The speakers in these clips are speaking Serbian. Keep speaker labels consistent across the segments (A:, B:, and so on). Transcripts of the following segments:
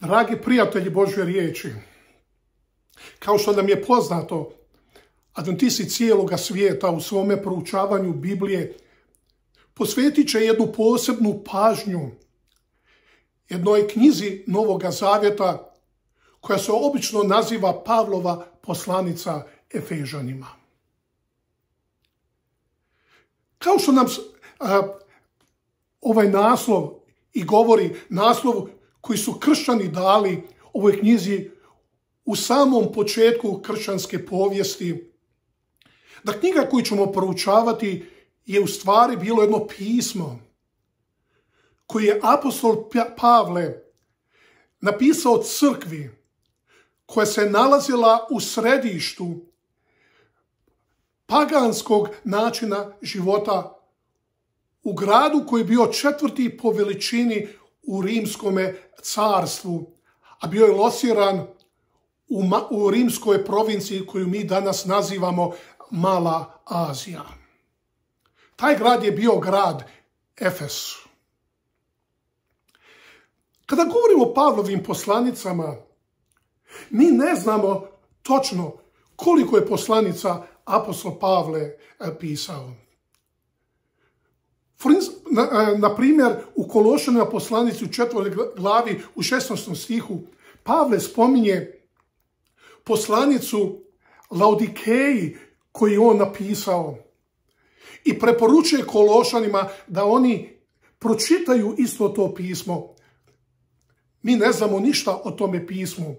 A: Dragi prijatelji Božje riječi, kao što nam je poznato, adventisti cijeloga svijeta u svome proučavanju Biblije posvetit će jednu posebnu pažnju jednoj knjizi Novoga Zavjeta koja se obično naziva Pavlova poslanica Efežanima. Kao što nam ovaj naslov i govori, naslov koji su kršćani dali ovoj knjizi u samom početku kršćanske povijesti, da knjiga koju ćemo proučavati je u stvari bilo jedno pismo koje je apostol Pavle napisao crkvi koja se nalazila u središtu paganskog načina života u gradu koji je bio 4. po veličini u rimskome carstvu, a bio je lociran u rimskoj provinciji koju mi danas nazivamo Mala Azija. Taj grad je bio grad Efes. Kada govorimo o Pavlovim poslanicama, mi ne znamo točno koliko je poslanica apostol Pavle pisao. Na primjer, u Kološanima poslanici u 4. glavi u 16. stihu Pavle spominje poslanicu Laodikeji koju je on napisao i preporučuje Kološanima da oni pročitaju isto to pismo. Mi ne znamo ništa o tome pismu.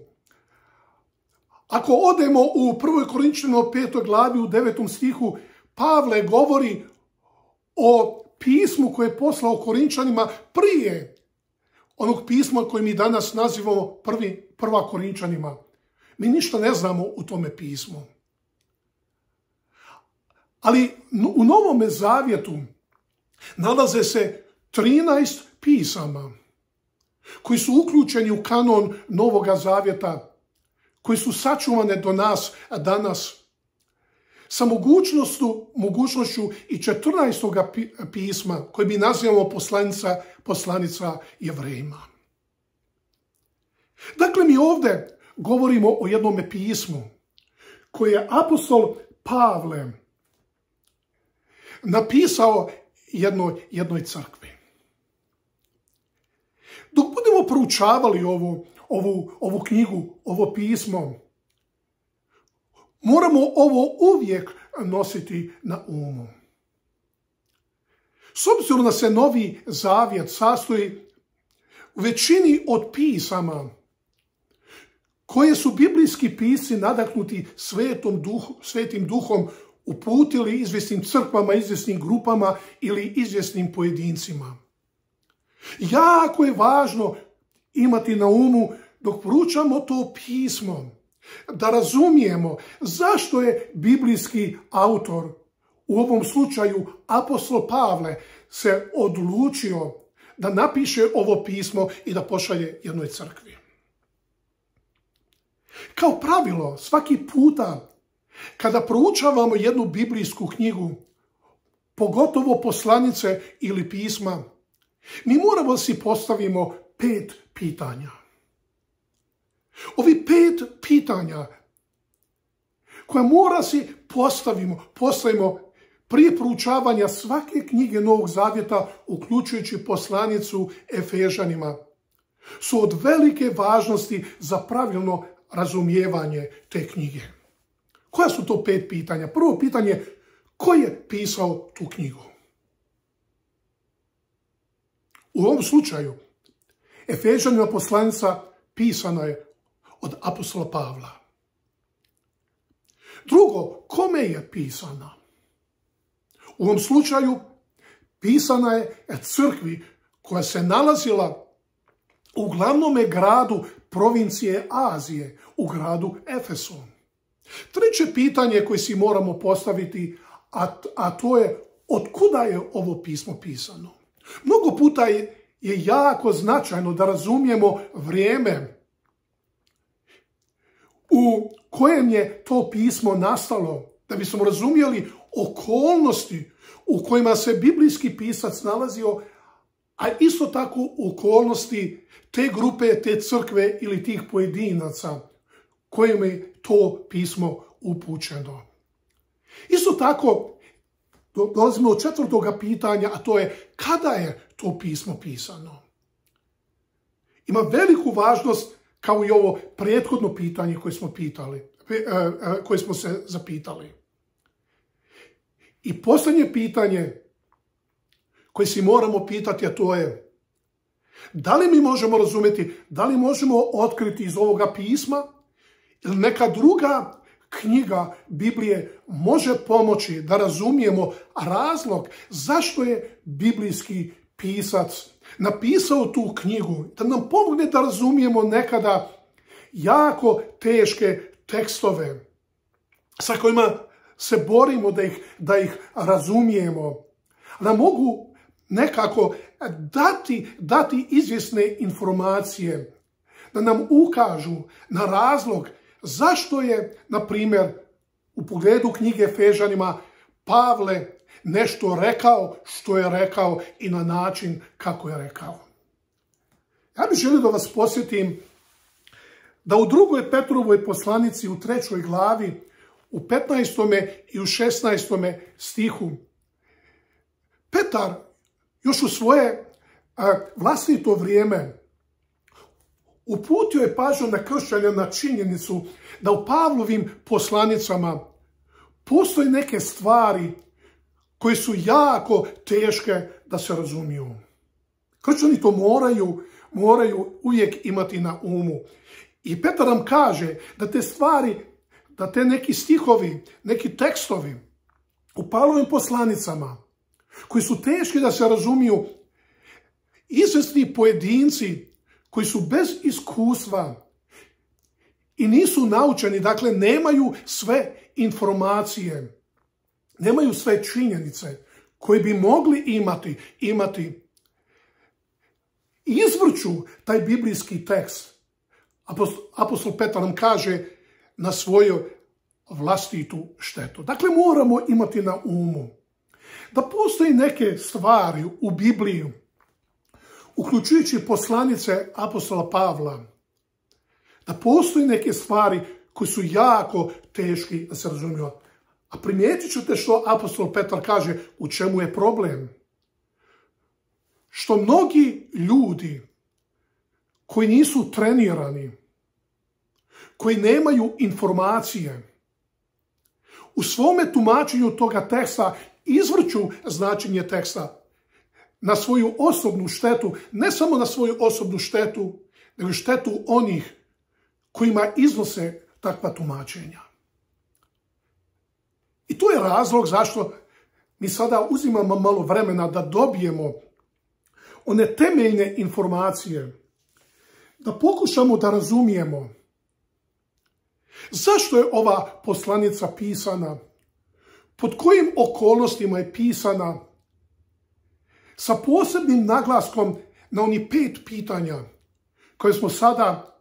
A: Ako odemo u 1. Korinčanima 5. glavi u 9. stihu, Pavle govori o pismu koje je poslao Korinčanima prije onog pisma koje mi danas nazivamo 1. Korinčanima. Mi ništa ne znamo u tome pismu. Ali u Novome Zavjetu nalaze se 13 pisama koji su uključeni u kanon Novoga Zavjeta, koji su sačuvane do nas danas, sa mogućnošću i 14. pisma koje mi nazivamo poslanica Jevrejima. Dakle, mi ovdje govorimo o jednome pismu koje je apostol Pavle napisao jednoj crkvi. Dok budemo proučavali ovu knjigu, ovo pismo, moramo ovo uvijek nositi na umu. S obzirom da se Novi Zavjet sastoji u većini od pisama koje su biblijski pisci nadahnuti Svetim Duhom uputili izvjesnim crkvama, izvjesnim grupama ili izvjesnim pojedincima. Jako je važno imati na umu dok proučamo to pismo, da razumijemo zašto je biblijski autor, u ovom slučaju apostol Pavle, se odlučio da napiše ovo pismo i da pošalje jednoj crkvi. Kao pravilo, svaki puta kada proučavamo jednu biblijsku knjigu, pogotovo poslanice ili pisma, mi moramo da si postavimo 5 pitanja. Ovi 5 pitanja koja mora si postavimo prije proučavanja svake knjige Novog Zavjeta, uključujući poslanicu Efežanima, su od velike važnosti za pravilno razumijevanje te knjige. Koja su to 5 pitanja? Prvo pitanje, ko je pisao tu knjigu? U ovom slučaju, Efežanima poslanica pisana je od apostola Pavla. Drugo, kome je pisana? U ovom slučaju pisana je crkvi koja se nalazila u glavnome gradu provincije Azije, u gradu Efesu. Treće pitanje koje si moramo postaviti, a to je otkuda je ovo pismo pisano? Mnogo puta je jako značajno da razumijemo vrijeme u kojem je to pismo nastalo, da bismo razumjeli okolnosti u kojima se biblijski pisac nalazio, a isto tako u okolnosti te grupe, te crkve ili tih pojedinaca kojim je to pismo upućeno. Isto tako, dolazimo do četvrtoga pitanja, a to je kada je to pismo pisano. Ima veliku važnost kao i ovo prethodno pitanje koje smo se zapitali. I posljednje pitanje koje si moramo pitati, a to je da li mi možemo razumjeti, da li možemo otkriti iz ovoga pisma ili neka druga knjiga Biblije može pomoći da razumijemo razlog zašto je biblijski pisac napisao tu knjigu, da nam pomogne da razumijemo nekada jako teške tekstove sa kojima se borimo da ih razumijemo, da mogu nekako dati izvjesne informacije, da nam ukažu na razlog zašto je, na primjer, u pogledu knjige Efežanima Pavle nešto rekao što je rekao i na način kako je rekao. Ja bih želio da vas podsjetim da u 2. Petrovoj poslanici u 3. glavi u 15. i u 16. stihu Petar još u svoje vlastito vrijeme uputio je pažnju na kršćane na činjenicu da u Pavlovim poslanicama postoje neke stvari koje su jako teške da se razumiju. Kršćani to moraju uvijek imati na umu. I Petar nam kaže da te stvari, da te neki stihovi, neki tekstovi u Pavlovim poslanicama koji su teški da se razumiju, izvesni pojedinci koji su bez iskustva i nisu naučeni, dakle nemaju sve informacije, nemaju sve činjenice koje bi mogli imati, izvrću taj biblijski tekst. Apostol Petar nam kaže na svoju vlastitu štetu. Dakle, moramo imati na umu da postoji neke stvari u Bibliji, uključujući poslanice apostola Pavla, da postoji neke stvari koje su jako teški da se razumiju. A primijetit ćete što apostol Petar kaže, u čemu je problem. Što mnogi ljudi koji nisu trenirani, koji nemaju informacije, u svome tumačenju toga teksta izvrću značenje teksta na svoju osobnu štetu, ne samo na svoju osobnu štetu, nego štetu onih kojima iznose takva tumačenja. I to je razlog zašto mi sada uzimamo malo vremena da dobijemo one temeljne informacije, da pokušamo da razumijemo zašto je ova poslanica pisana, pod kojim okolnostima je pisana, sa posebnim naglaskom na onih 5 pitanja koje smo sada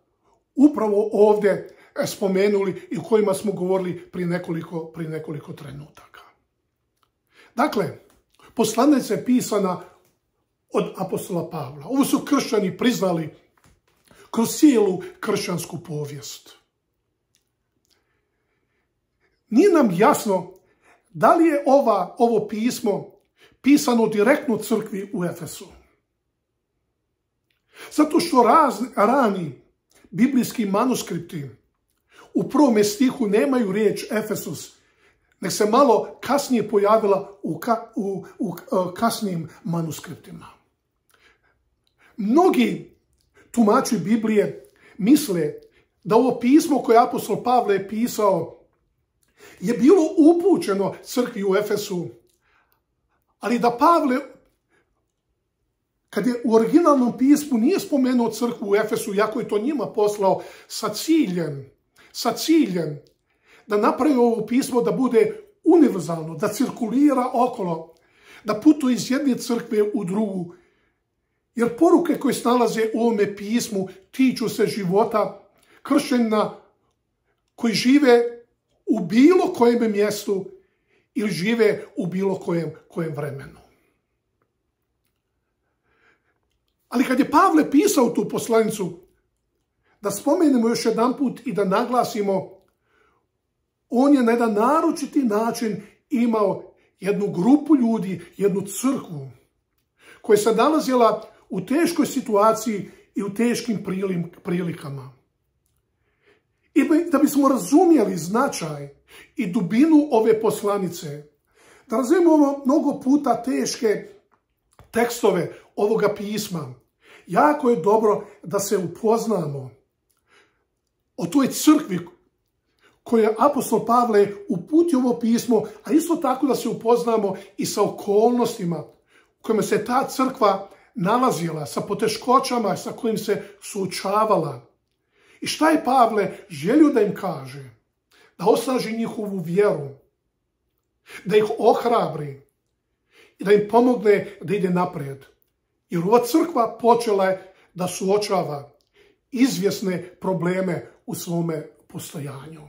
A: upravo ovdje spomenuli i o kojima smo govorili prije nekoliko trenutaka. Dakle, poslanica je pisana od apostola Pavla. Ovo su kršćani priznali kroz cijelu kršćansku povijest. Nije nam jasno da li je ovo pismo pisano direktno crkvi u Efesu. Zato što rani biblijski manuskripti u 1. stihu nemaju riječ Efesus, nek se malo kasnije pojavila u kasnijim manuskriptima. Mnogi tumači Biblije misle da ovo pismo koje apostol Pavle je pisao je bilo upućeno crkvi u Efesu, ali da Pavle, kad je u originalnom pismu nije spomenuo crkvu u Efesu, iako je to njima poslao sa ciljem da napravi ovo pismo da bude univerzalno, da cirkulira okolo, da putuje iz jedne crkve u drugu. Jer poruke koje se nalaze u ovome pismu tiču se života kršćanina koji žive u bilo kojem mjestu ili žive u bilo kojem vremenu. Ali kad je Pavle pisao tu poslanicu, da spomenemo još jedan put i da naglasimo, on je na jedan naročiti način imao jednu grupu ljudi, jednu crkvu, koja se nalazila u teškoj situaciji i u teškim prilikama. I da bismo razumjeli značaj i dubinu ove poslanice, da razumijemo mnogo puta teške tekstove ovoga pisma, jako je dobro da se upoznamo o toj crkvi koju je apostol Pavle uputio ovo pismo, a isto tako da se upoznamo i sa okolnostima u kojima se ta crkva nalazila, sa poteškoćama sa kojim se suočavala. I šta je Pavle želio da im kaže? Da osnaži njihovu vjeru, da ih ohrabri i da im pomogne da ide naprijed. Jer ova crkva počela je da suočava izvjesne probleme u svome postojanju.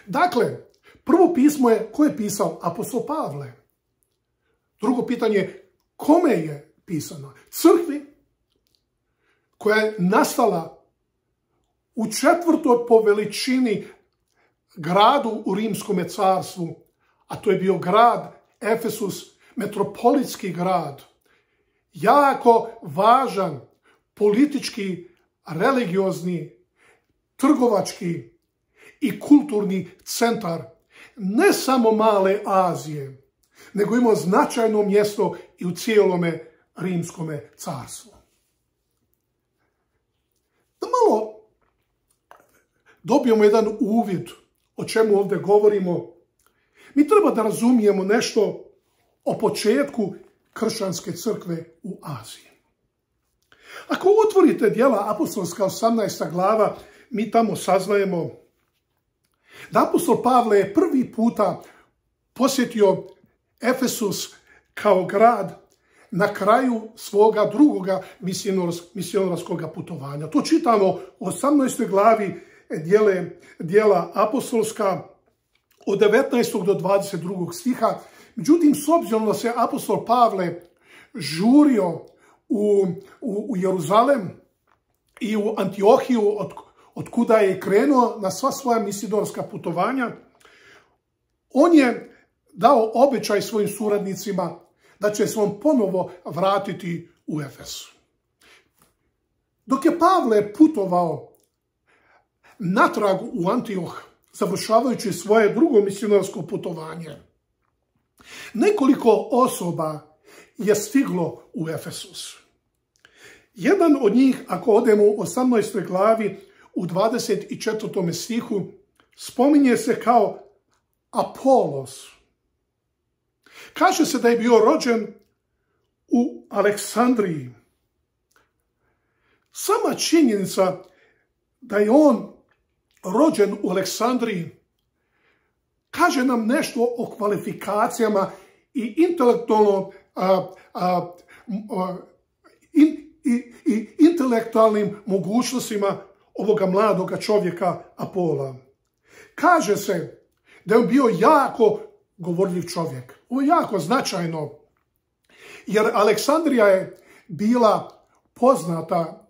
A: Dakle, prvo pismo je ko je pisao? Apostol Pavle. Drugo pitanje, kome je pisano? Crkvi koja je nastala u 4. po veličini gradu u Rimskome carstvu, a to je bio grad Efesus, metropolitski grad, jako važan politički, religiozni, trgovački i kulturni centar ne samo male Azije, nego imao značajno mjesto i u cijelome Rimskome carstvu. Da malo dobijemo jedan uvid o čemu ovdje govorimo, mi treba da razumijemo nešto o početku kršćanske crkve u Aziji. Ako otvorite Djela apostolska 18. glava, mi tamo saznajemo da apostol Pavle je prvi puta posjetio Efesus kao grad na kraju svoga drugoga misionarskog putovanja. To čitamo u 18. glavi Djela apostolska od 19. do 22. stiha. Međutim, s obzirom da se apostol Pavle žurio u Jeruzalem i u Antiohiju, od kuda je krenuo na sva svoja misionarska putovanja, on je dao obećaj svojim suradnicima da će se on ponovo vratiti u Efes. Dok je Pavle putovao natrag u Antioh, završavajući svoje drugo misionarsko putovanje, nekoliko osoba je stiglo u Efesus. Jedan od njih, ako odemo u 18. glavi, u 24. stihu, spominje se kao Apolos. Kaže se da je bio rođen u Aleksandriji. Sama činjenica da je on rođen u Aleksandriji kaže nam nešto o kvalifikacijama i intelektualnim mogućnostima ovoga mladoga čovjeka Apola. Kaže se da je on bio jako govorljiv čovjek. Ovo je jako značajno, jer Aleksandrija je bila poznata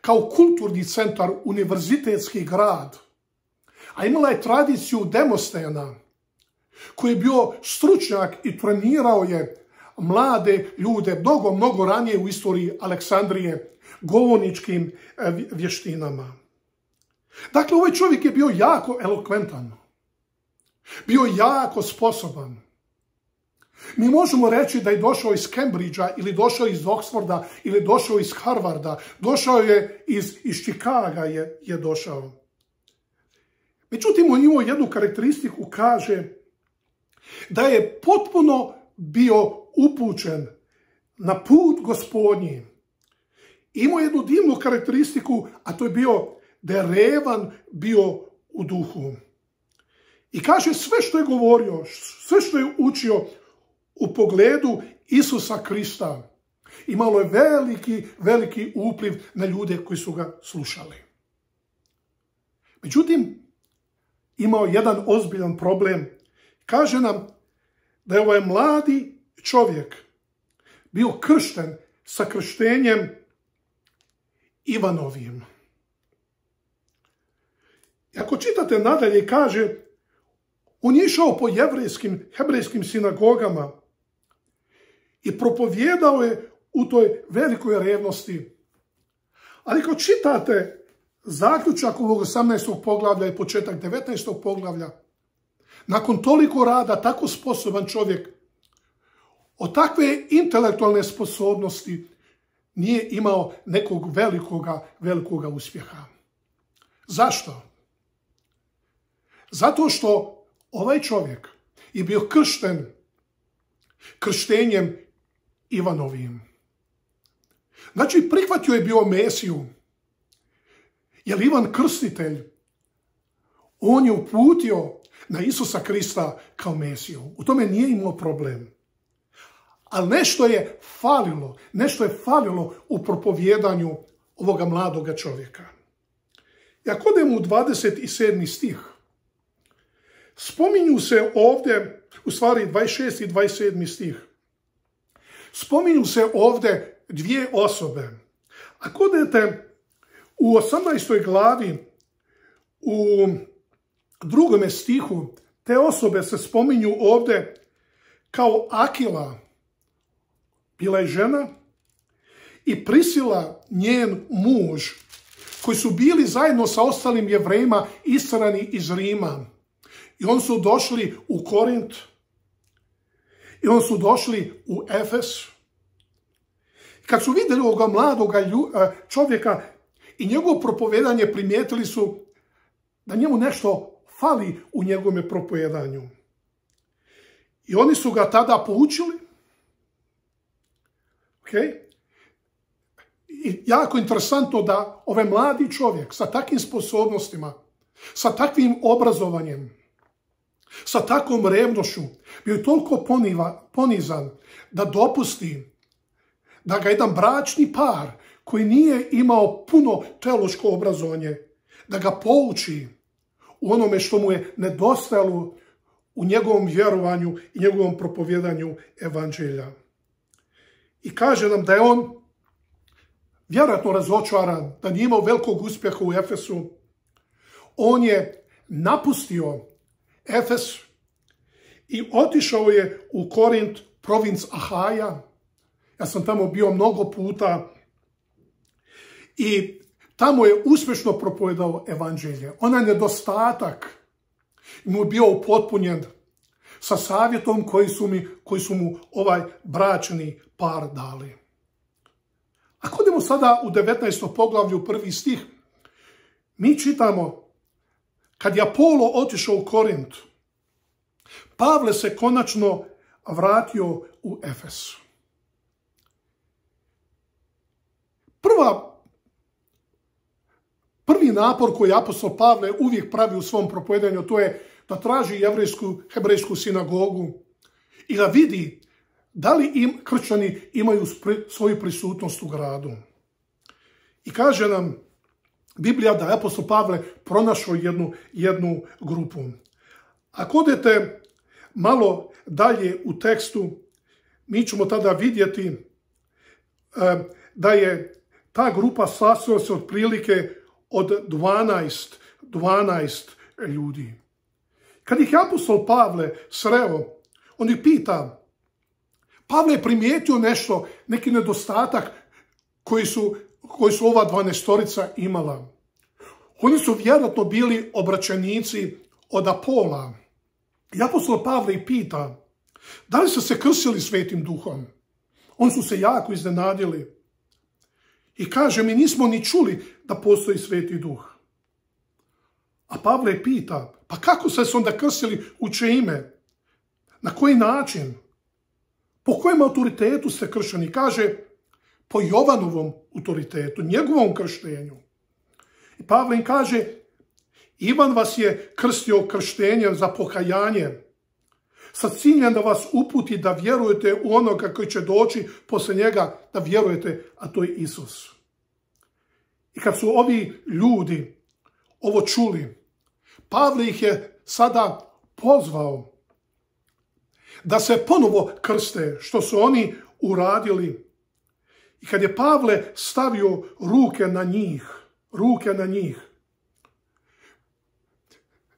A: kao kulturni centar, univerzitetski grad, a imala je tradiciju Demostena, koji je bio stručnjak i trenirao je mlade ljude mnogo ranije u istoriji Aleksandrije govorničkim vještinama. Dakle, ovaj čovjek je bio jako elokventan, bio jako sposoban. Mi možemo reći da je došao iz Cambridgea ili došao iz Oxforda ili došao iz Harvarda, došao je iz Chicaga je došao. Međutim, on imao jednu karakteristiku, kaže da je potpuno bio upućen na put Gospodnji. Imao jednu divnu karakteristiku, a to je bio da je revan bio u duhu. I kaže sve što je govorio, sve što je učio u pogledu Isusa Krista, imalo je veliki upliv na ljude koji su ga slušali. Međutim, imao jedan ozbiljan problem. Kaže nam da je ovaj mladi čovjek bio kršten sa krštenjem Ivanovim. I ako čitate nadalje, kaže, on je išao po hebrejskim sinagogama i propovijedao je u toj velikoj revnosti. Ali ako čitate zaključak ovog 18. poglavlja i početak 19. poglavlja, nakon toliko rada, tako sposoban čovjek, od takve intelektualne sposobnosti nije imao nekog velikoga uspjeha. Zašto? Zato što ovaj čovjek je bio kršten krštenjem Ivanovim. Znači, prihvatio je bio Mesiju. Jer Ivan Krstitelj, on je uputio na Isusa Krista kao Mesiju. U tome nije imao problem. Ali nešto je falilo u propovijedanju ovoga mladoga čovjeka. I ako odemo u 27. stih, spominju se ovdje, u stvari 26. i 27. stih, spominju se ovdje dvije osobe. Ako odete u 18. glavi, u 2. stihu, te osobe se spominju ovdje kao Akila, bila je žena, i Prisila, njen muž, koji su bili zajedno sa ostalim Jevrejima istjerani iz Rima. I oni su došli u Korint, i oni su došli u Efes. Kad su vidjeli ovoga mladoga čovjeka i njegovo propovijedanje, primijetili su da njemu nešto fali u njegovom propovijedanju. I oni su ga tada poučili. I jako interesantno da ovaj mladi čovjek sa takvim sposobnostima, sa takvim obrazovanjem, sa takvom revnošću, bio je toliko ponizan da dopusti da ga jedan bračni par koji nije imao puno teološko obrazovanje, da ga pouči u onome što mu je nedostajalo u njegovom vjerovanju i njegovom propovijedanju evanđelja. I kaže nam da je on vjerojatno razočaran, da nije imao velikog uspjeha u Efesu. On je napustio Efes i otišao je u Korint, provinc Ahaja. Ja sam tamo bio mnogo puta i tamo je uspješno propovijedao evanđelje. Onaj nedostatak mu je bio upotpunjen sa savjetom koji su mu ovaj bračni par dali. Ako idemo sada u 19. poglavlju, 1. stih, mi čitamo, kad je Apolo otišao u Korint, Pavle se konačno vratio u Efes. Prvi napor koji apostol Pavle uvijek pravi u svom propovijedanju, to je da traži hebrejsku sinagogu i da vidi da li kršćani imaju svoju prisutnost u gradu. I kaže nam Biblija da je apostol Pavle pronašao jednu grupu. Ako odete malo dalje u tekstu, mi ćemo tada vidjeti da je ta grupa sastojala se otprilike od 12 ljudi. Kad ih apostol Pavle sreo, on ih pita, Pavle je primijetio neki nedostatak koji su ova 12-torica imala. Oni su vjerojatno bili obraćenici od Apola. I apostol Pavle ih pita, da li su se krstili Svetim Duhom? Oni su se jako iznenadili. I kaže, mi nismo ni čuli da postoji Sveti Duh. A Pavle pita, pa kako ste se onda krstili, u čije ime? Na koji način? Po kojem autoritetu ste kršteni? Kaže, po Jovanovom autoritetu, njegovom krštenju. I Pavle im kaže, Ivan vas je krstio krštenjem za pokajanje, sa ciljem da vas uputi da vjerujete u onoga koji će doći poslije njega, da vjerujete, a to je Isus. I kad su ovi ljudi ovo čuli, Pavle ih je sada pozvao da se ponovo krste, što su oni uradili. I kad je Pavle stavio ruke na njih,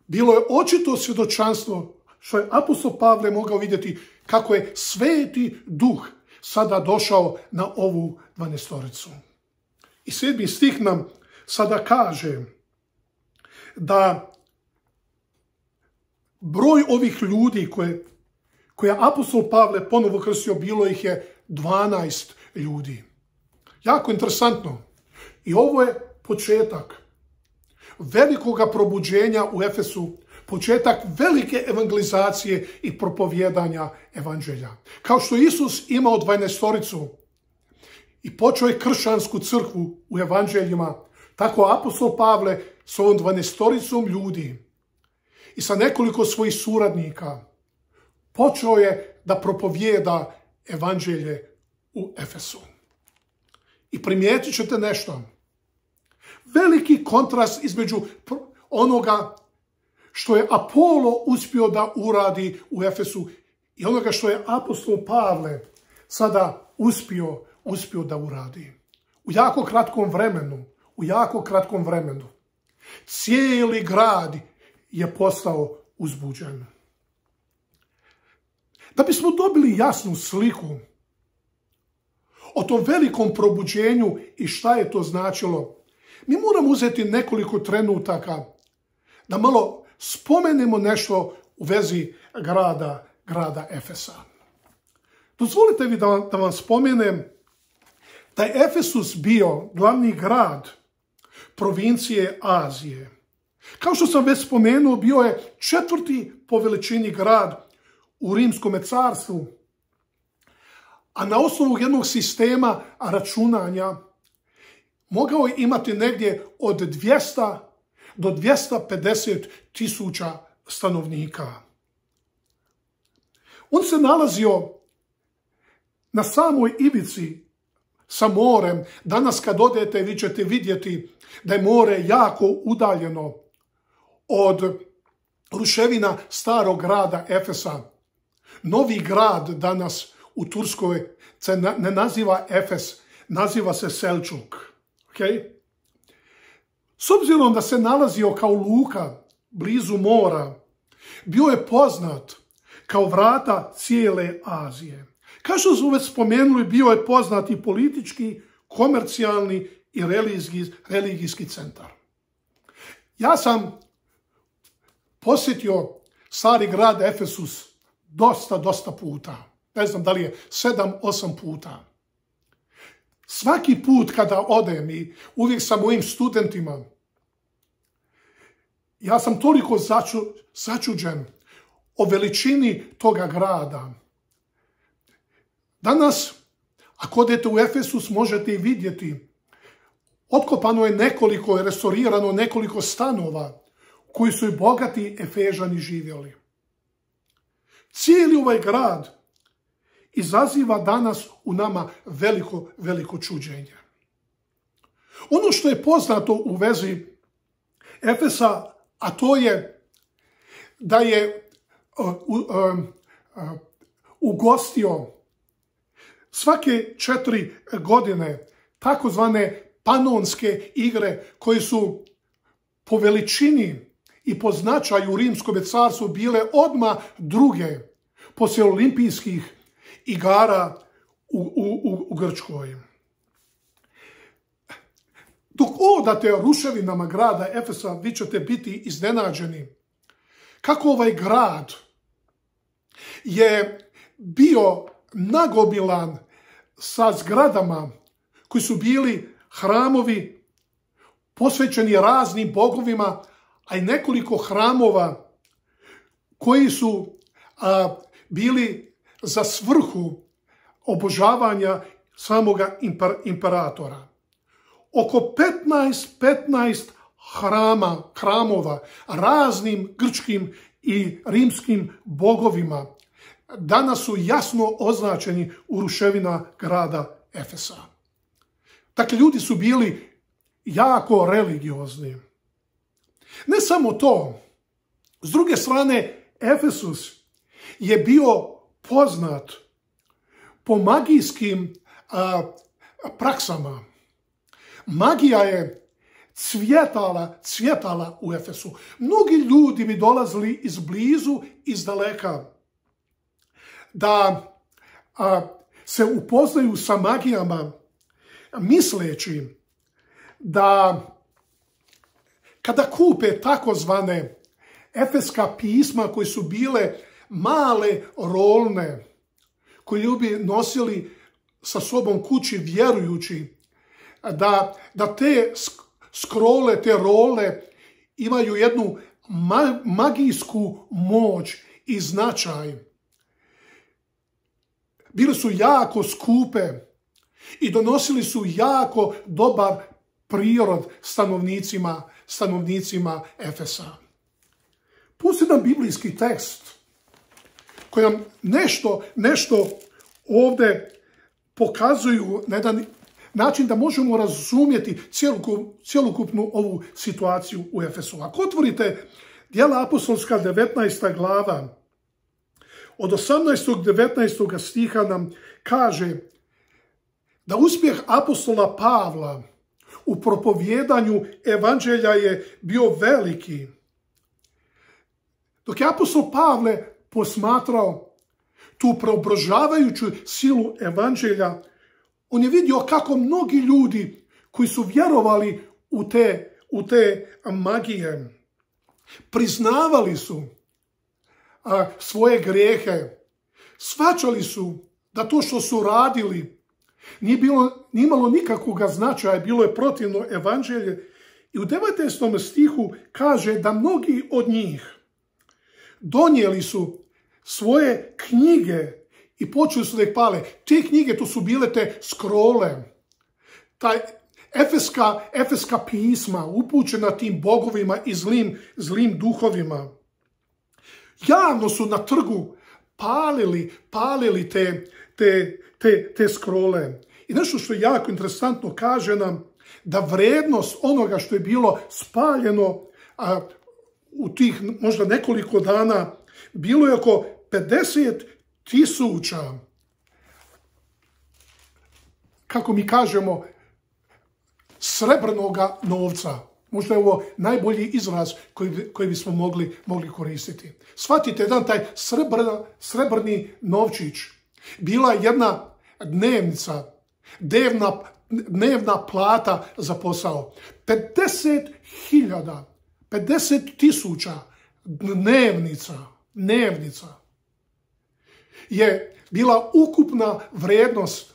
A: bilo je očito svjedočanstvo što je apostol Pavle mogao vidjeti kako je Sveti Duh sada došao na ovu 12-toricu. I 7. stih nam sada kaže da broj ovih ljudi koje je apostol Pavle ponovo krstio, bilo ih je 12 ljudi. Jako interesantno. I ovo je početak velikoga probuđenja u Efesu, početak velike evangelizacije i propovjedanja evanđelja. Kao što Isus imao 12-toricu i počeo je kršćansku crkvu u evanđeljima, tako apostol Pavle s ovom 12-toricom ljudi i sa nekoliko svojih suradnika počeo je da propovijeda evanđelje u Efesu. I primijetit ćete nešto. Veliki kontrast između onoga što je Apolo uspio da uradi u Efesu i onoga što je apostol Pavle sada uspio da uradi. U jako kratkom vremenu. Cijeli grad je postao uzbuđen. Da bismo dobili jasnu sliku o tom velikom probuđenju i šta je to značilo, mi moramo uzeti nekoliko trenutaka da malo spomenemo nešto u vezi grada Efesa. Dozvolite mi da vam spomenem da je Efesus bio glavni grad provincije Azije. Kao što sam već spomenuo, bio je 4. po veličini grad u Rimskom carstvu, a na osnovu jednog sistema računanja mogao je imati negdje od 200 do 250 tisuća stanovnika. On se nalazio na samoj ivici sa morem. Danas kad odete vi ćete vidjeti da je more jako udaljeno od ruševina starog grada Efesa. Novi grad danas u Turskoj se ne naziva Efes, naziva se Selčuk. Okay? S obzirom da se nalazio kao luka blizu mora, bio je poznat kao vrata cijele Azije. Kao što smo već spomenuli, bio je poznat i politički, komercijalni i religijski centar. Ja sam posjetio stari grad Efesus dosta puta. Ne znam da li je 7-8 puta. Svaki put kada odem i uvijek sa mojim studentima, ja sam toliko začuđen o veličini toga grada. Danas, ako odete u Efesus, možete i vidjeti, otkopano je restaurirano nekoliko stanova koji su i bogati Efežani živjeli. Cijeli ovaj grad izaziva danas u nama veliko čuđenje. Ono što je poznato u vezi Efesa, a to je da je ugostio svake 4 godine takozvane Panonske igre, koje su po veličini i po značaju u Rimskom carstvu bile odmah druge poslije olimpijskih igara u Grčkoj. Dok odate ruševinama grada Efesa, vi ćete biti iznenađeni kako ovaj grad je bio nagobilan sa zgradama koji su bili hramovi posvećeni raznim bogovima, a i nekoliko hramova koji su bili za svrhu obožavanja samoga imperatora. Oko 15 hramova raznim grčkim i rimskim bogovima danas su jasno označeni u ruševina grada Efesa. Dakle, ljudi su bili jako religiozni. Ne samo to, s druge strane, Efesus je bio poznat po magijskim praksama. Magija je cvjetala u Efesu. Mnogi ljudi bi dolazili iz blizu, iz daleka, da se upoznaju sa magijama, misleći da kada kupe takozvane efeska pisma koje su bile male rolne, koje ljudi nosili sa sobom kući vjerujući, da te scrolle, te role imaju jednu magijsku moć i značaj. Bile su jako skupe i donosili su jako dobar prirod stanovnicima Efesa. Pusti nam biblijski tekst koji nam nešto ovdje pokazuju na jedan način da možemo razumjeti cjelokupnu ovu situaciju u Efesu. Ako otvorite Djela apostolska 19. glava, od 18. 19. stiha nam kaže da uspjeh apostola Pavla u propovjedanju evanđelja je bio veliki. Dok je apostol Pavle posmatrao tu preobražavajuću silu evanđelja, on je vidio kako mnogi ljudi koji su vjerovali u te magije, priznavali su svoje grijehe, shvaćali su da to što su radili nije imalo nikakvog značaja, bilo je protivno evanđelje. I u 19. stihu kaže da mnogi od njih donijeli su svoje knjige i počeli su da ih pale. Te knjige, to su bile te scrolle, taj efeska pisma upućena tim bogovima i zlim duhovima. Javno su na trgu palili te scrolle. I nešto što je jako interesantno kaže nam da vrednost onoga što je bilo spaljeno u tih možda nekoliko dana bilo je oko 50.000, kako mi kažemo, srebrnoga novca. Možda je ovo najbolji izraz koji bismo mogli koristiti. Shvatite, jedan taj srebrni novčić bila jedna dnevnica, dnevna plata za posao. 50.000 dnevnica je bila ukupna vrijednost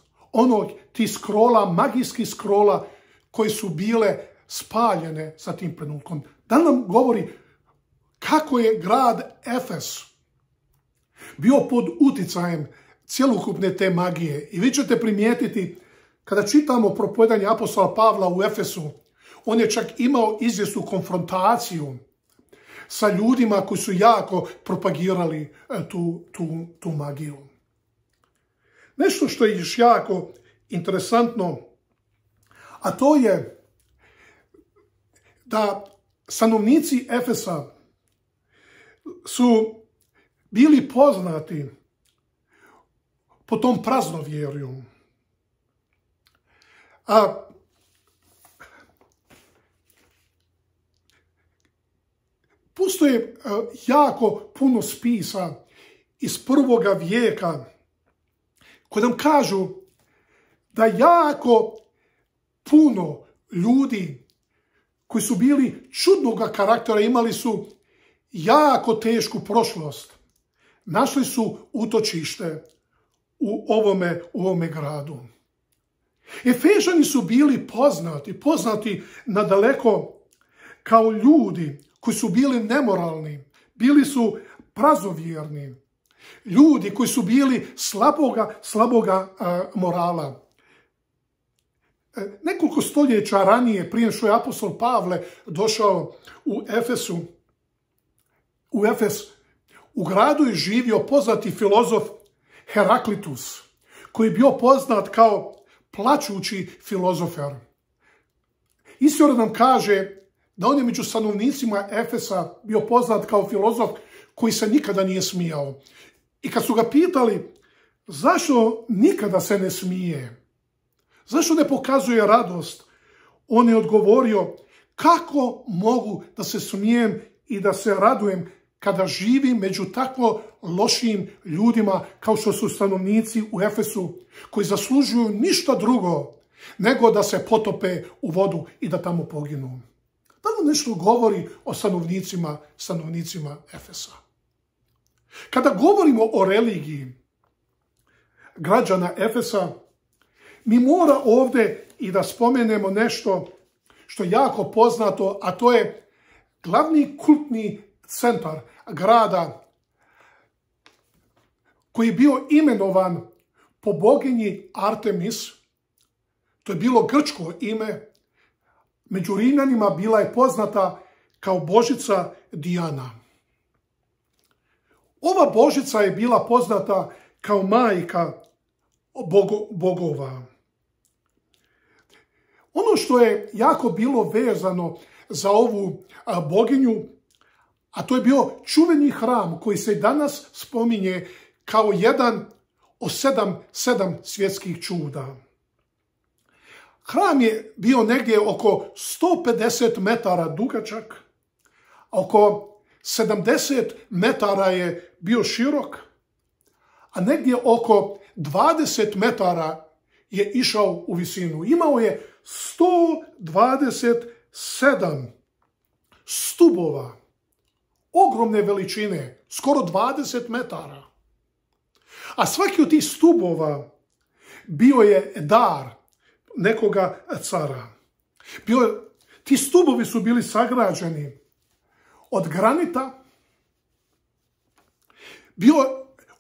A: tih scrolla, magijskih scrolla koji su bile spaljene sa tim trenutkom. Da nam govori kako je grad Efes bio pod uticajem cjelokupne te magije. I vi ćete primijetiti, kada čitamo propovedanje apostola Pavla u Efesu, on je čak imao izvjesnu konfrontaciju sa ljudima koji su jako propagirali tu magiju. Nešto što je još jako interesantno, a to je da stanovnici Efesa su bili poznati po tom praznovjerju. Postoje jako puno spisa iz 1. vijeka koji nam kažu da jako puno ljudi koji su bili čudnoga karaktera, imali su jako tešku prošlost, našli su utočište u ovome gradu. Efežani su bili poznati nadaleko kao ljudi koji su bili nemoralni, bili su prazovjerni, ljudi koji su bili slaboga morala. Nekoliko stoljeća ranije, prije što je apostol Pavle došao u Efes, u gradu je živio poznati filozof Heraklitus, koji je bio poznat kao plačući filozofer. Istorija nam kaže da on je među stanovnicima Efesa bio poznat kao filozof koji se nikada nije smijao. I kad su ga pitali zašto nikada se ne smije, Zašto ne pokazuje radost? On je odgovorio, kako mogu da se smijem i da se radujem kada živim među tako lošim ljudima kao što su stanovnici u Efesu, koji zaslužuju ništa drugo nego da se potope u vodu i da tamo poginu. Da li nešto govori o stanovnicima Efesa? Kada govorimo o religiji građana Efesa, mi mora ovdje i da spomenemo nešto što je jako poznato, a to je glavni kultni centar grada koji je bio imenovan po boginji Artemis. To je bilo grčko ime. Među Rimljanima bila je poznata kao božica Dijana. Ova božica je bila poznata kao majka bogova. Ono što je jako bilo vezano za ovu boginju, a to je bio čuveni hram koji se danas spominje kao jedan od sedam svjetskih čuda. Hram je bio negdje oko 150 metara dugačak, a oko 70 metara je bio širok, a negdje oko 20 metara je išao u visinu. Imao je 127 stubova, ogromne veličine, skoro 20 metara. A svaki od tih stubova bio je dar nekoga cara. Ti stubovi su bili sagrađeni od granita.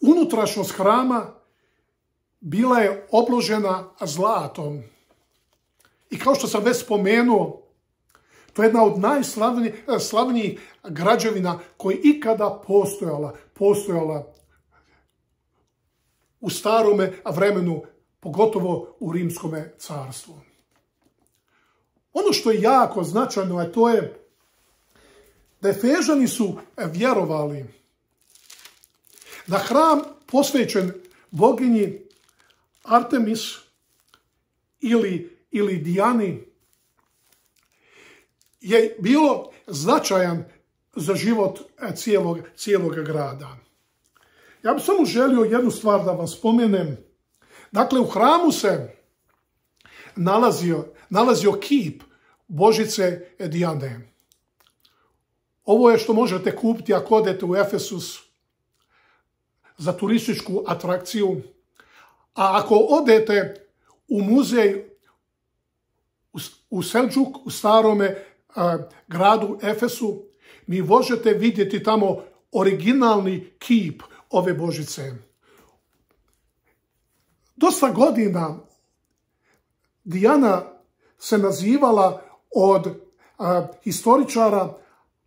A: Unutrašnjost hrama bila je obložena zlatom. I kao što sam već spomenuo, to je jedna od najslavnijih građevina koja je ikada postojala u starome vremenu, pogotovo u Rimskome carstvu. Ono što je jako značajno, a to je da Efežani su vjerovali da hram posvećen boginji Artemis ili Dijani je bilo značajan za život cijelog grada. Ja bih samo želio jednu stvar da vam spomenem. Dakle, u hramu se nalazio kip Božice Dijane. Ovo je što možete kupiti ako odete u Efesus za turističku atrakciju. A ako odete u muzej u Selđuk, u starome gradu Efesu, mi možete vidjeti tamo originalni kip ove Božice. Dosta godina Dijana se nazivala od historičara,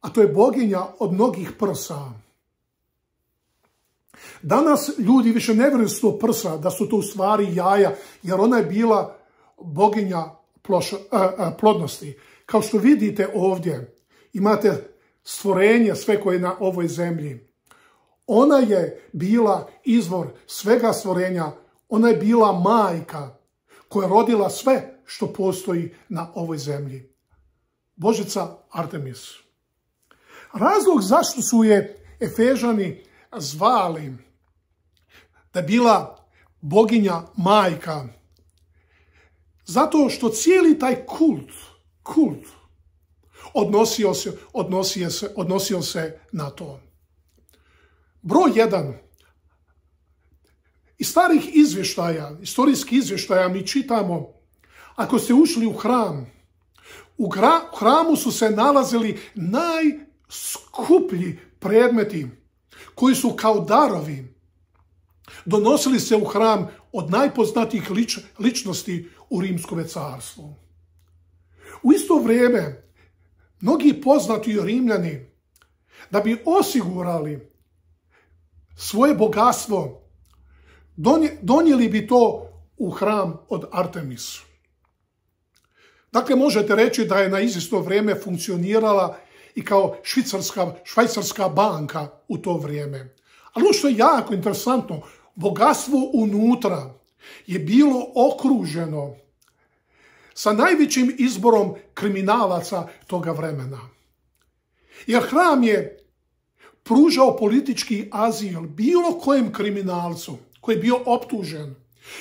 A: a to je boginja od mnogih prsa. Danas ljudi više ne vjeruju da su to prsa, da su to u stvari jaja, jer ona je bila boginja plodnosti. Kao što vidite ovdje, imate stvorenje sve koje je na ovoj zemlji. Ona je bila izvor svega stvorenja. Ona je bila majka koja je rodila sve što postoji na ovoj zemlji. Božica Artemis. Razlog zašto su je Efežani zvali da je bila boginja majka, zato što cijeli taj kult odnosio se na to. Broj 1. Iz starih istorijskih izvještaja mi čitamo, ako ste ušli u hram, u hramu su se nalazili najskuplji predmeti koji su kao darovi donosili se u hram od najpoznatijih ličnosti u Rimskome carstvu. U isto vrijeme, mnogi poznati Rimljani, da bi osigurali svoje bogatstvo, donijeli bi to u hram od Artemis. Dakle, možete reći da je na isto vrijeme funkcionirala i kao švajcarska banka u to vrijeme. Ali ono što je jako interesantno, bogatstvo unutra je bilo okruženo sa najvećim izborom kriminalaca toga vremena. Jer hram je pružao politički azil bilo kojem kriminalcu koji je bio optužen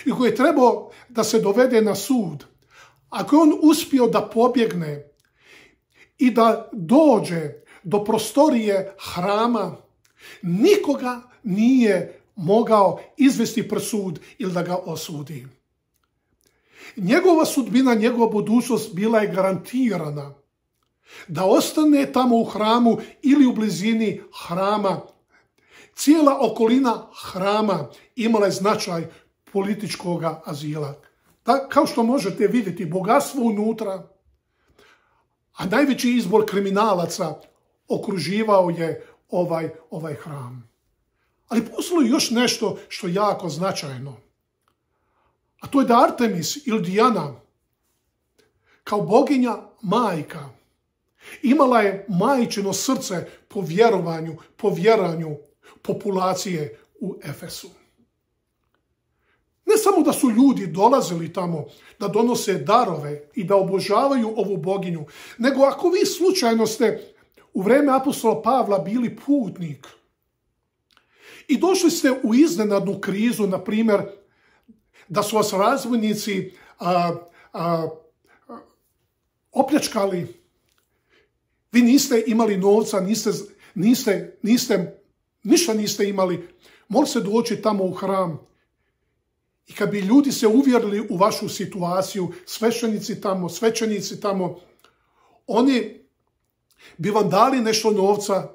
A: i koji je trebao da se dovede na sud. Ako je on uspio da pobjegne i da dođe do prostorije hrama, nikoga nije mogao izvesti pred sud ili da ga osudi. Njegova sudbina, njegova budućnost bila je garantirana da ostane tamo u hramu ili u blizini hrama. Cijela okolina hrama imala je značaj političkog azila. Kao što možete vidjeti, bogatstvo unutra, a najveći izbor kriminalaca okruživao je ovaj hram. Ali postoji još nešto što je jako značajno. A to je da Artemis ili Dijana, kao boginja majka, imala je majčino srce po vjeranju populacije u Efesu. Ne samo da su ljudi dolazili tamo da donose darove i da obožavaju ovu boginju, nego ako vi slučajno ste u vrijeme apostola Pavla bili putnik i došli ste u iznenadnu krizu, na primjer, da su vas razbojnici opljačkali, vi niste imali novca, ništa niste imali, mogli ste doći tamo u hram. I kad bi ljudi se uvjerili u vašu situaciju, svećenici tamo, oni bi vam dali nešto novca,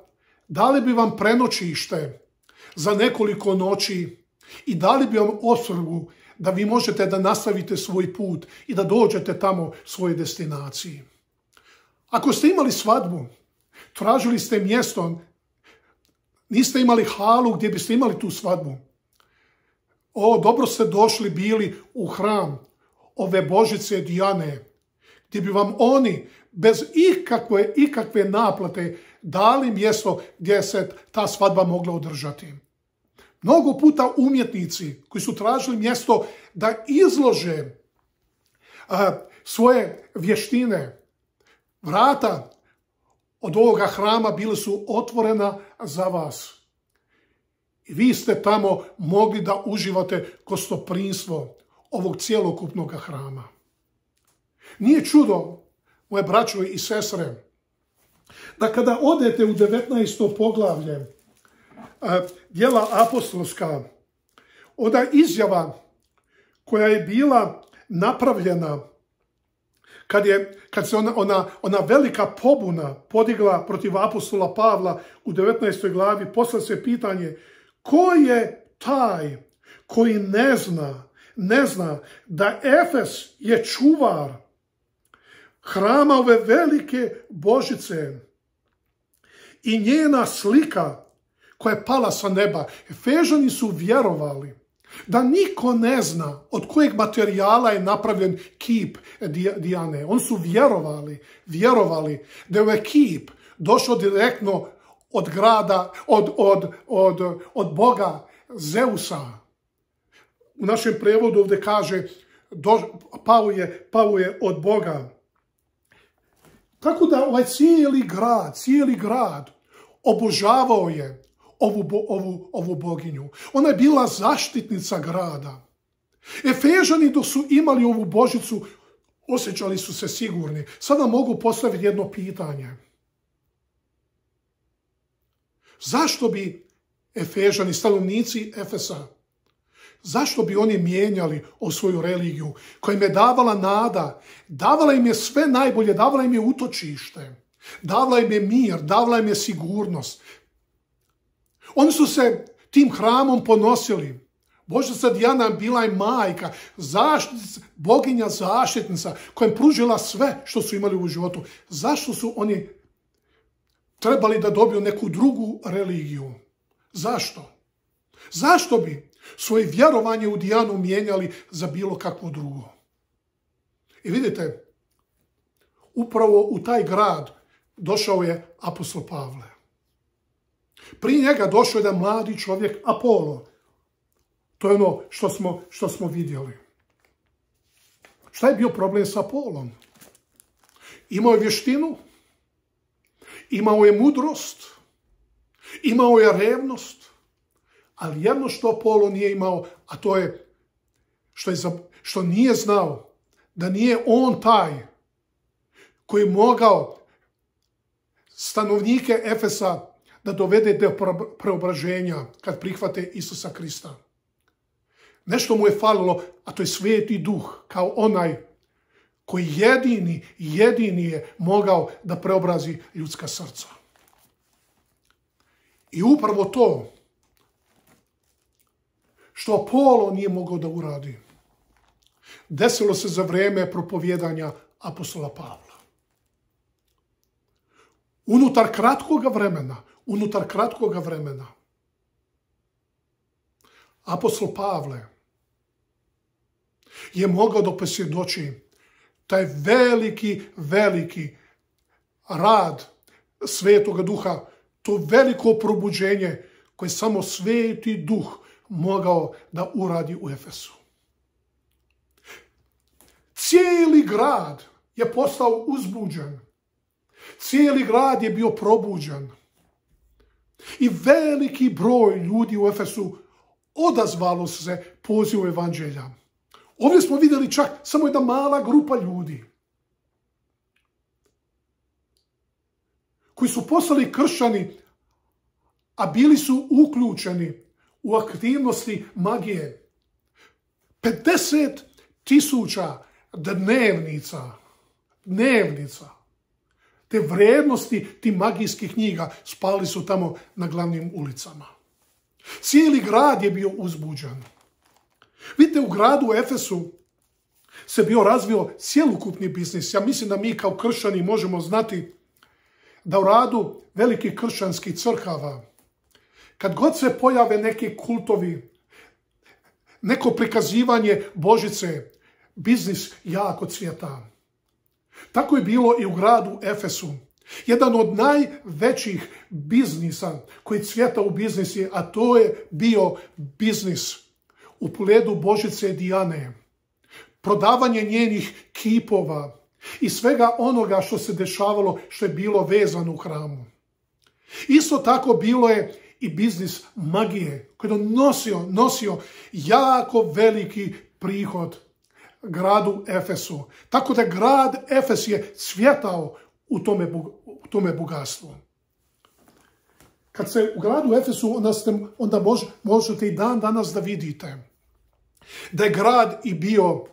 A: dali bi vam prenoćište za nekoliko noći i dali bi vam osvrgu da vi možete da nastavite svoj put i da dođete tamo svojoj destinaciji. Ako ste imali svadbu, tražili ste mjesto, niste imali halu gdje biste imali tu svadbu. Dobro ste došli bili u hram ove božice Dijane, gdje bi vam oni bez ikakve naplate dali mjesto gdje se ta svadba mogla održati. Mnogo puta umjetnici koji su tražili mjesto da izlože svoje vještine, vrata od ovoga hrama bile su otvorena za vas. I vi ste tamo mogli da uživate gostoprimstvo ovog cjelokupnog hrama. Nije čudo, moje braćo i sestre, da kada odete u 19. poglavlje Djela apostolska, onda izjava koja je bila napravljena kad se ona velika pobuna podigla protiv apostola Pavla u 19. glavi, postavlja se pitanje ko je taj koji ne zna da Efes je čuvar hrama ove velike Božice i njena slika koja je pala sa neba. Efežani su vjerovali da niko ne zna od kojeg materijala je napravljen kip Dijane. Oni su vjerovali da je ovaj kip došao direktno od grada, od Boga Zeusa. U našem prevodu ovdje kaže pao je od Boga. Tako da ovaj cijeli grad obožavao je ovu boginju. Ona je bila zaštitnica grada. Efežani dok su imali ovu božicu, osjećali su se sigurni. Sada mogu postaviti jedno pitanje. Zašto bi Efežani, stanovnici Efesa, zašto bi oni mijenjali svoju religiju koja im je davala nada, davala im je sve najbolje, davala im je utočište, davala im je mir, davala im je sigurnost. Oni su se tim hramom ponosili. Božica Dijana bila je majka, boginja zaštitnica koja im pružila sve što su imali u životu. Zašto su oni trebali da dobiju neku drugu religiju? Zašto? Zašto bi svoje vjerovanje u Dijanu mijenjali za bilo kakvo drugo? I vidite, upravo u taj grad došao je apostol Pavle. Prije njega došao je jedan mladi čovjek, Apolo. To je ono što smo vidjeli. Šta je bio problem sa Apolom? Imao je vještinu, imao je mudrost, imao je revnost, ali jedno što Apolo nije imao, a to je što nije znao da nije on taj koji je mogao stanovnike Efesa da dovede do preobraženja kad prihvate Isusa Krista. Nešto mu je falilo, a to je Sveti Duh, kao onaj koji jedini je mogao da preobrazi ljudska srca. I upravo to što Apolo nije mogao da uradi, desilo se za vrijeme propovjedanja apostola Pavla. Unutar kratkoga vremena, apostol Pavle je mogao da posvjedoči taj veliki rad Svetoga Duha, to veliko probuđenje koje samo Sveti Duh mogao da uradi u Efesu. Cijeli grad je postao uzbuđen. Cijeli grad je bio probuđen. I veliki broj ljudi u Efesu odazvalo se pozivu evanđelja. Ovdje smo vidjeli čak samo jedna mala grupa ljudi koji su postali kršćani, a bili su uključeni u aktivnosti magije. 50.000 dnevnica, te vrijednosti tih magijskih knjiga spali su tamo na glavnim ulicama. Cijeli grad je bio uzbuđen. Vidite, u gradu Efesu se bio razvio cjelokupni biznis. Ja mislim da mi kao kršćani možemo znati da u radu velikih kršćanskih crkava, kad god se pojave neki kultovi, neko prikazivanje Božice, biznis jako cvjeta. Tako je bilo i u gradu Efesu. Jedan od najvećih biznisa koji cvjeta u biznisi, a to je bio biznis u pogledu Božice Dijane. Prodavanje njenih kipova i svega onoga što se dešavalo, što je bilo vezano u hramu. Isto tako bilo je i biznis magije koji je nosio jako veliki prihod gradu Efesu. Tako da grad Efes je cvjetao u tome bogatstvu. Kad se u gradu Efesu, onda možete i dan danas da vidite da je grad i bio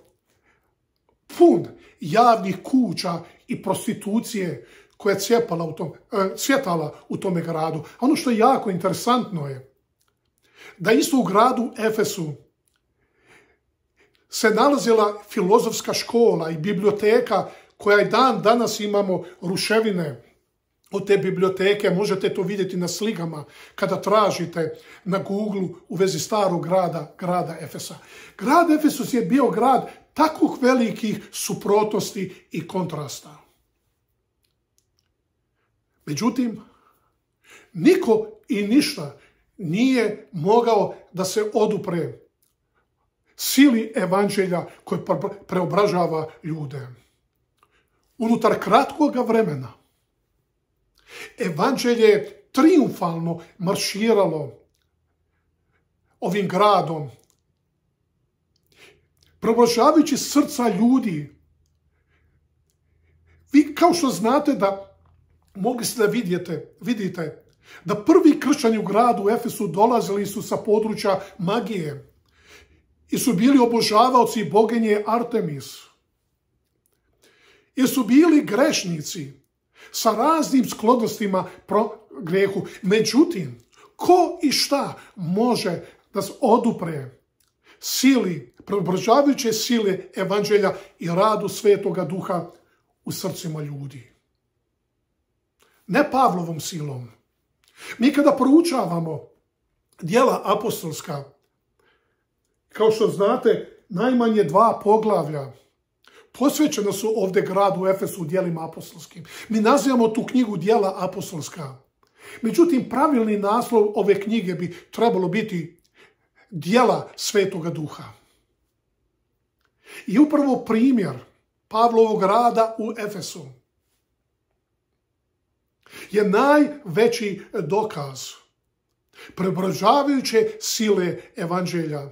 A: pun javnih kuća i prostitucije koja je cvjetala u tome gradu. A ono što je jako interesantno je da isto u gradu Efesu se nalazila filozofska škola i biblioteka koja i dan danas imamo ruševine od te biblioteke. Možete to vidjeti na slikama kada tražite na Google u vezi starog grada Efesa. Grad Efesus je bio grad takvih velikih suprotnosti i kontrasta. Međutim, niko i ništa nije mogao da se odupre sili evanđelja koje preobražava ljude. Unutar kratkoga vremena evanđelje je triumfalno marširalo ovim gradom, preobražavajući srca ljudi. Vi kao što znate da mogli ste da vidite da prvi kršćani u gradu Efesu dolazili su sa područja magije i su bili obožavaoci boginje Artemis. I su bili grešnici sa raznim sklonostima grehu. Međutim, ko i šta može da se odupre sili, preobražavajuće sile evanđelja i radu Svetoga Duha u srcima ljudi? Ne Pavlovom silom. Mi kada proučavamo djela apostolska, kao što znate, najmanje 2 poglavlja posvećena su ovdje gradu Efesu u djelima apostolskim. Mi nazivamo tu knjigu djela apostolska. Međutim, pravilni naslov ove knjige bi trebalo biti djela Svetoga Duha. I upravo primjer Pavlovog rada u Efesu je najveći dokaz preobražavajuće sile evanđelja.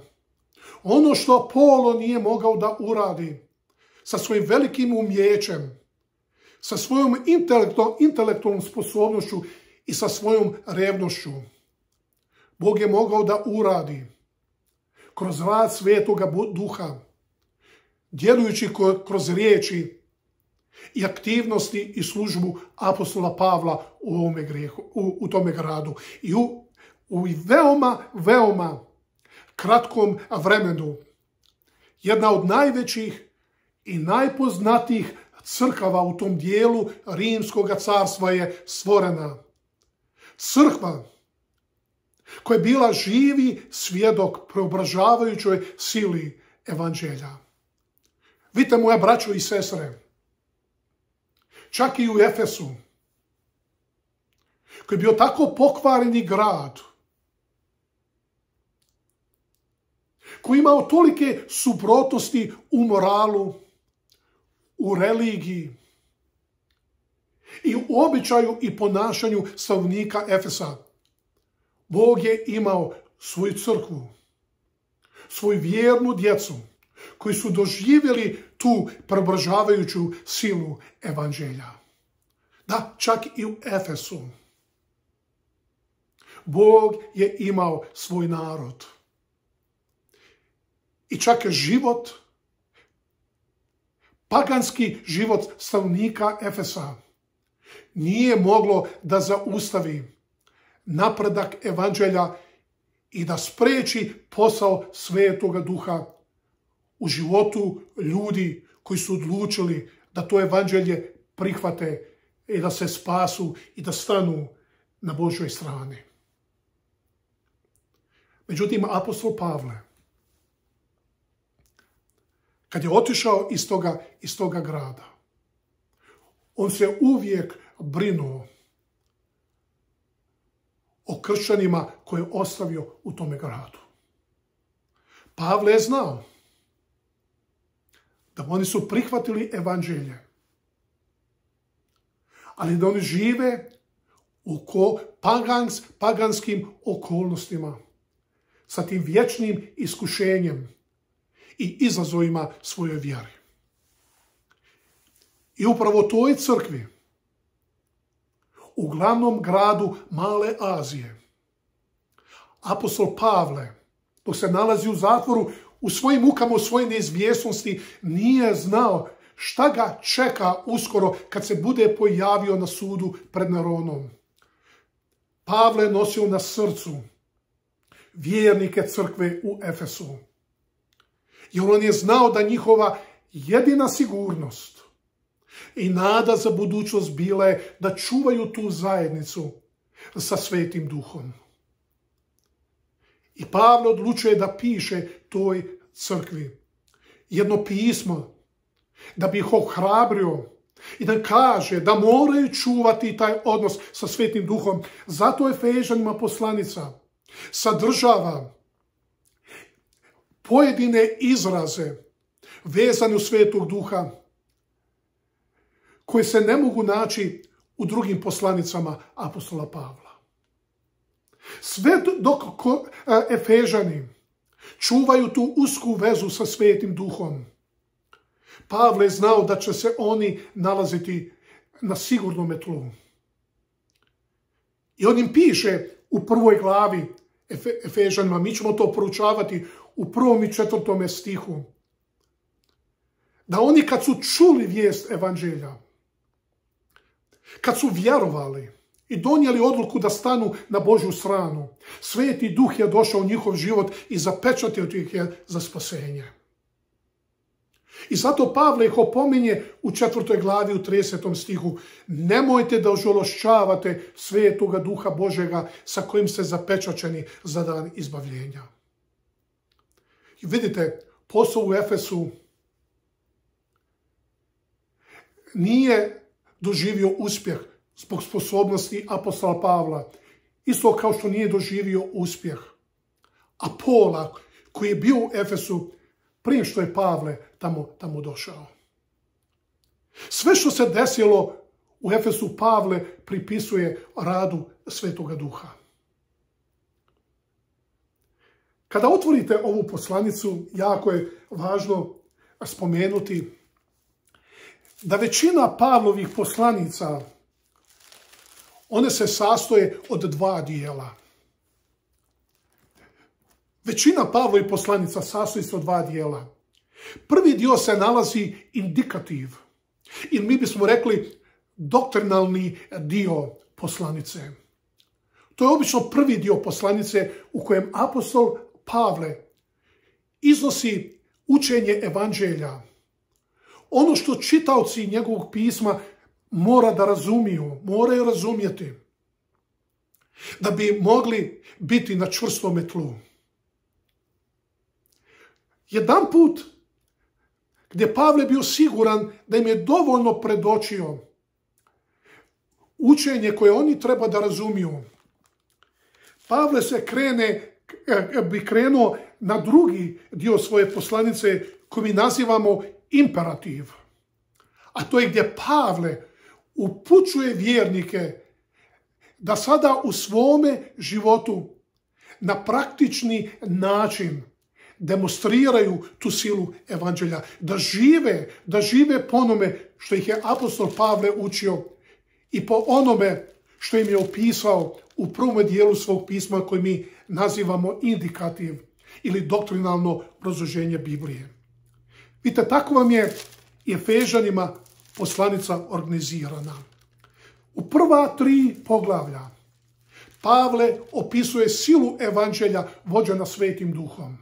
A: Ono što Apolo nije mogao da uradi sa svojim velikim umijećem, sa svojom intelektualnom sposobnošću i sa svojom revnošću, Bog je mogao da uradi kroz rad Svetoga Duha, djelujući kroz riječi i aktivnosti i službu apostola Pavla u tome gradu. I u veoma kratkom vremenu jedna od najvećih i najpoznatijih crkava u tom dijelu Rimskog carstva je stvorena. Crkva koja je bila živi svjedok preobražavajućoj sili evanđelja. Vidite, moja braćo i sestre, čak i u Efesu, koji je bio tako pokvareni grad, koji je imao tolike suprotnosti u moralu, u religiji i u običaju i ponašanju stanovnika Efesa, Bog je imao svoju crkvu, svoju vjernu djecu, koji su doživjeli tu preobražavajuću silu evanđelja. Da, čak i u Efesu Bog je imao svoj narod. I čak život, paganski život stanovnika Efesa nije moglo da zaustavi napredak evanđelja i da spreči posao Svetoga Duha u životu ljudi koji su odlučili da to evanđelje prihvate i da se spasu i da stanu na Božoj strani. Međutim, apostol Pavle, kad je otišao iz toga grada, on se uvijek brinuo o kršćanima koje je ostavio u tome gradu. Pavle je znao da oni su prihvatili evanđelje, ali da oni žive u paganskim okolnostima, sa tim vječnim iskušenjem i izazovima svoje vjere. I upravo toj crkvi, u glavnom gradu Male Azije, apostol Pavle, dok se nalazi u zatvoru, u svojim mukama, u svojoj neizvjesnosti, nije znao šta ga čeka uskoro kad se bude pojavio na sudu pred Neronom. Pavle je nosio na srcu vjernike crkve u Efesu, jer on je znao da njihova jedina sigurnost i nada za budućnost bila je da čuvaju tu zajednicu sa Svetim Duhom. I Pavle odlučuje da piše toj crkvi jedno pismo, da bi ih ohrabrio i da kaže da moraju čuvati taj odnos sa Svetim Duhom. Zato Efežanima poslanica sadržava pojedine izraze vezane u Svetog Duha koje se ne mogu naći u drugim poslanicama apostola Pavla. Sve dok Efežani čuvaju tu usku vezu sa Svetim Duhom, Pavle je znao da će se oni nalaziti na sigurnom tlu. I on im piše u prvoj glavi Efežanima, mi ćemo to proučavati u 1. i 4. stihu, da oni kad su čuli vijest evanđelja, kad su vjerovali i donijeli odluku da stanu na Božju stranu, Sveti Duh je došao u njihov život i zapečatio ih je za spasenje. I zato Pavle ih opominje u 4. glavi u 30. stihu: nemojte da ožalošćavate Svetoga Duha Božega sa kojim ste zapečaćeni za dan izbavljenja. I vidite, posao u Efesu nije doživio uspjeh zbog sposobnosti apostola Pavla, isto kao što nije doživio uspjeh Apola koji je bio u Efesu prije što je Pavle tamo došao. Sve što se desilo u Efesu Pavle pripisuje radu Svetoga Duha. Kada otvorite ovu poslanicu, jako je važno spomenuti da većina Pavlovih poslanica, one se sastoje od dva dijela. Većina Pavlovih poslanica sastoji se od dva dijela. Prvi dio se nalazi indikativ, ili mi bismo rekli doktrinalni dio poslanice. To je obično prvi dio poslanice u kojem apostol Pavle iznosi učenje evanđelja. Ono što čitaoci njegovog pisma mora da razumiju, moraju razumjeti, da bi mogli biti na čvrstome tlu. Jedan put gdje Pavle bio siguran da im je dovoljno predočio učenje koje oni treba da razumiju, Pavle bi krenuo na drugi dio svoje poslanice koji mi nazivamo imperativ. A to je gdje Pavle upućuje vjernike da sada u svome životu na praktični način demonstriraju tu silu evanđelja, da žive po onome što ih je apostol Pavle učio i po onome što im je opisao u prvom dijelu svog pisma koji mi nazivamo indikativ ili doktrinalno obrazloženje Biblije. Vidite, tako vam je Efežanima poslanica organizirana. U prva 3 poglavlja Pavle opisuje silu evanđelja vođena Svetim Duhom.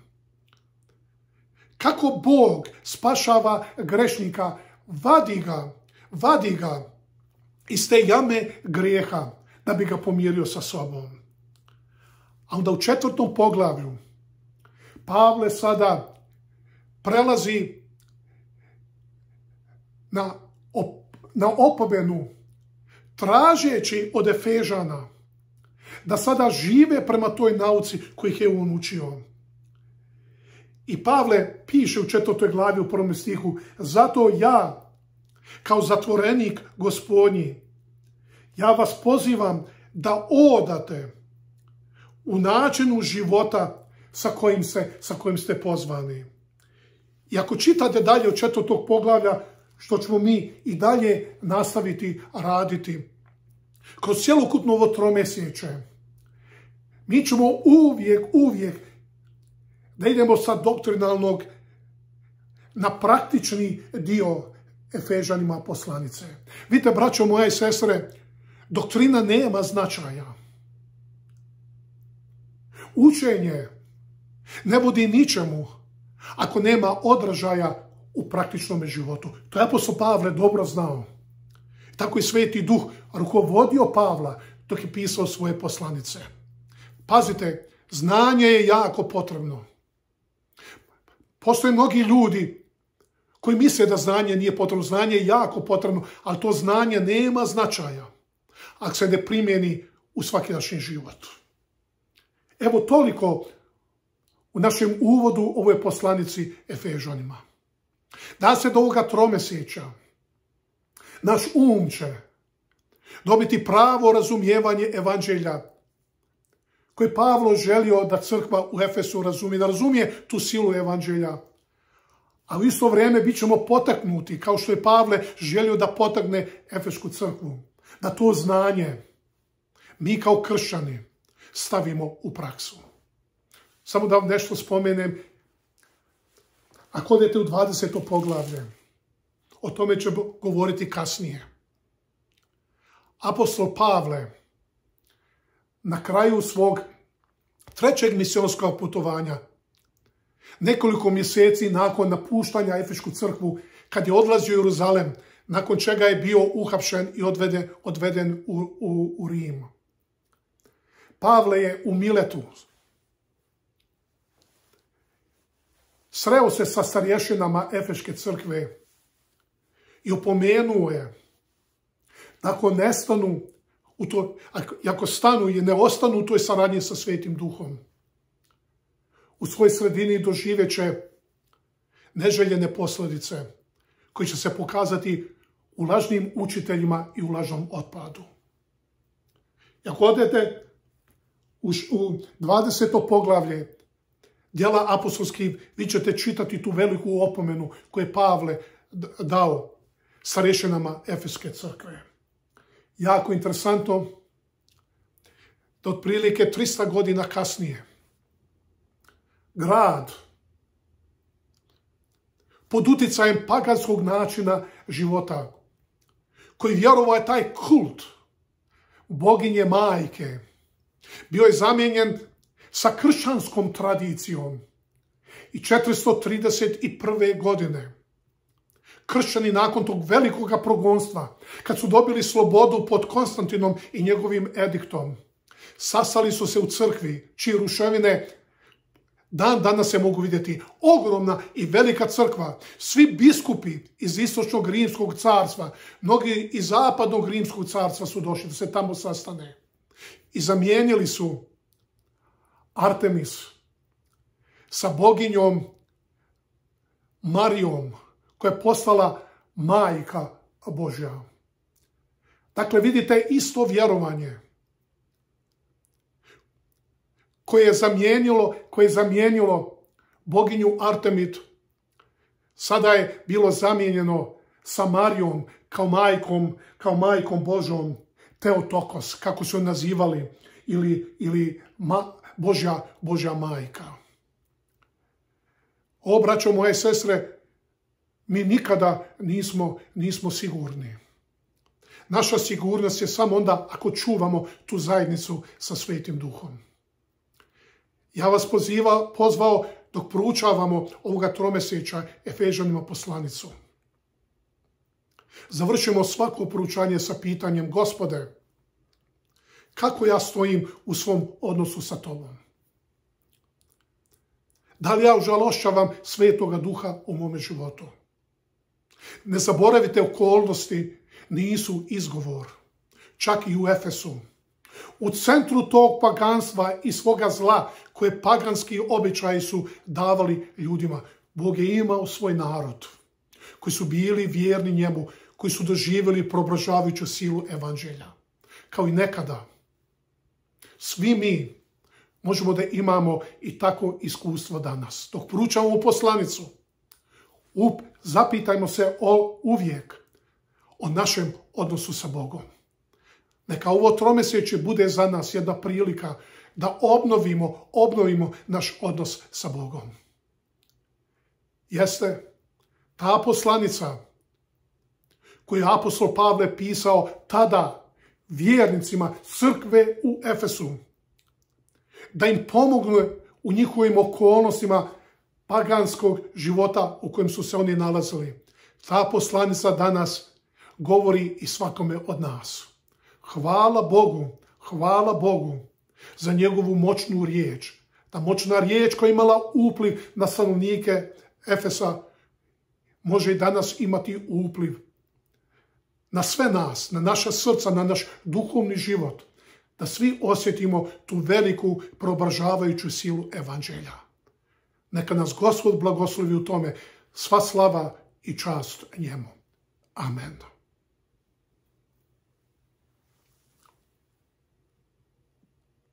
A: Kako Bog spašava grešnika, vadi ga iz te jame grijeha da bi ga pomirio sa sobom. A onda u 4. poglavlju Pavle sada prelazi na opomenu tražeći od Efežana da sada žive prema toj nauci koju ih je on učio. I Pavle piše u 4. glavi u 1. stihu: zato ja, kao zatvorenik Gospodnji, ja vas pozivam da odate u načinu života sa kojim ste pozvani. I ako čitate dalje od 4. poglavlja, što ćemo mi i dalje nastaviti raditi, kroz cjelokupno ovo tromjesečje, mi ćemo uvijek da idemo sa doktrinalnog na praktični dio Efežanima poslanice. Vidite, braćo moje i sestre, doktrina nema značaja. Učenje ne vodi ničemu ako nema odražaja u praktičnom životu. To je apostol Pavle dobro znao. Tako i Sveti Duh rukovodio Pavla dok je pisao svoje poslanice. Pazite, znanje je jako potrebno. Postoje mnogi ljudi koji misle da znanje nije potrebno. Znanje je jako potrebno, ali to znanje nema značaja ako se ne primjeni u svakidašnji život. Evo toliko u našem uvodu ovoj poslanici Efežanima. Da se do ovoga tromjesečja naš će dobiti pravo razumijevanje evanđelja koje Pavlo želio da crkva u Efesu razumije, da razumije tu silu evanđelja. A u isto vrijeme bit ćemo potaknuti, kao što je Pavle želio da potakne Efesku crkvu, da to znanje mi kao kršćani stavimo u praksu. Samo da vam nešto spomenem. Ako odete u 20. poglavlje, o tome ćemo govoriti kasnije. Apostol Pavle na kraju svog 3. misionskog putovanja, nekoliko mjeseci nakon napuštanja Efesku crkvu, kad je odlazio u Jeruzalem, nakon čega je bio uhapšen i odveden u Rim. Pavle je u Miletu sreo se sa starješinama Efeške crkve i opomenuo je da ako stanu i ne ostanu u toj saradnji sa Svetim Duhom, u svojoj sredini doživjet će neželjene posljedice koji će se pokazati u lažnim učiteljima i u lažnom otpadu. I ako odete u 20. poglavlje Djela apostolskih, vi ćete čitati tu veliku opomenu koju je Pavle dao starešinama Efeske crkve. Jako interesantno da otprilike 300 godina kasnije grad pod uticajem paganskog načina života, koji vjerovao je taj kult boginje majke, bio je zamijenjen sa kršćanskom tradicijom. I 431. godine kršćani nakon tog velikog progonstva, kad su dobili slobodu pod Konstantinom i njegovim ediktom, sastali su se u crkvi, čije ruševine dan danas se mogu vidjeti. Ogromna i velika crkva. Svi biskupi iz istočnog rimskog carstva, mnogi iz zapadnog rimskog carstva su došli da se tamo sastane. I zamijenili su Artemis sa boginjom Marijom, koja je postala majka Božja. Dakle, vidite isto vjerovanje koje je zamijenilo boginju Artemid, sada je bilo zamijenjeno sa Marijom kao majkom Božom, Teotokos, kako su je nazivali, ili Božja majka. O, braćo moje sestre, mi nikada nismo sigurni. Naša sigurnost je samo onda ako čuvamo tu zajednicu sa Svetim Duhom. Ja vas pozvao dok proučavamo ovoga tromjesečja Efežanima poslanicu. Završimo svako proučanje sa pitanjem: Gospode, kako ja stojim u svom odnosu sa Tobom? Da li ja užalošćavam Svetoga Duha u mome životu? Ne zaboravite, okolnosti nisu izgovor. Čak i u Efesu. U centru tog paganstva i svoga zla koje paganski običaji su davali ljudima, Bog je imao svoj narod koji su bili vjerni njemu, koji su doživjeli preobražavajuću silu evanđelja. Kao i nekada, svi mi možemo da imamo i tako iskustvo danas. Dok proučavamo poslanicu, zapitajmo se uvijek o našem odnosu sa Bogom. Neka ovo tromjesečje bude za nas jedna prilika da obnovimo naš odnos sa Bogom. Jeste ta poslanica koju je apostol Pavle pisao tada vjernicima crkve u Efesu, da im pomogne u njihovim okolnostima paganskog života u kojem su se oni nalazili. Ta poslanica danas govori i svakome od nas. Hvala Bogu za njegovu moćnu riječ. Ta moćna riječ koja je imala upliv na stanovnike Efesa može i danas imati upliv na sve nas, na naša srca, na naš duhovni život, da svi osjetimo tu veliku preobražavajuću silu evanđelja. Neka nas Gospod blagoslovi u tome. Sva slava i čast njemu. Amen.